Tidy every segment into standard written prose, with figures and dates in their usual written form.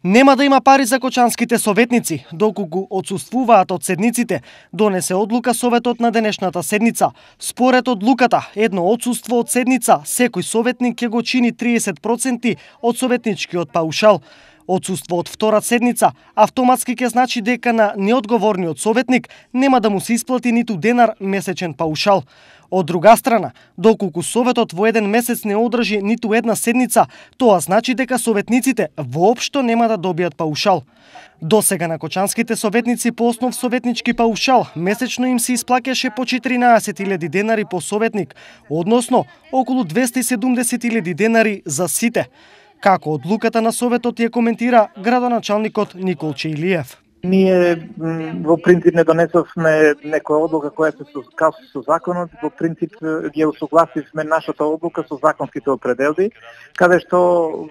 Нема да има пари за кочанските советници, доколку отсуствуваат од седниците, донесе одлука Советот на денешната седница. Според одлуката, едно отсуство од седница, секој советник ќе го чини 30% од советничкиот паушал. Отсуство од втора седница автоматски ќе значи дека на неодговорниот советник нема да му се исплати ниту денар месечен паушал. Од друга страна, доколку Советот во еден месец не одржи ниту една седница, тоа значи дека советниците воопшто нема да добијат паушал. Досега на кочанските советници по основ советнички паушал месечно им се исплаќаше по 14.000 денари по советник, односно околу 270.000 денари за сите. Како одлуката на Советот ја коментира градоначалникот Никол Чејлиев. Ние во принцип не донесовме некоја одлука која се согласи со законот, во принцип ги усогласивме нашата одлука со законските определби, каде што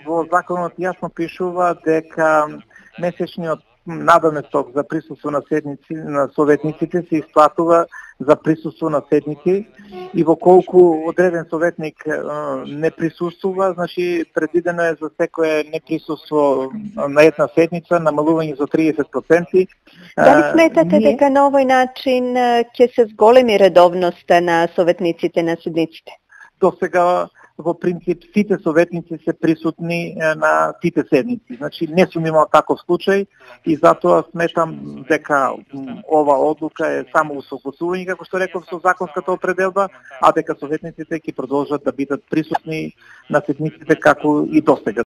во законот јасно пишува дека месечниот надоместок за присуство на советниците се исплатува за присуство на седници и во колку одреден советник не присуствува, значи предвидено е за секое неприсуство на една седница намалување за 30%. Дали сметате дека на овој начин ќе се зголеми редовноста на советниците на седниците? До сега во принцип сите советници се присутни на сите седници. Значи не сум имал таков случај и затоа сметам дека ова одлука е само усогласување, како што реков, со законската определба, а дека советниците ќе продолжат да бидат присутни на седниците како и досега.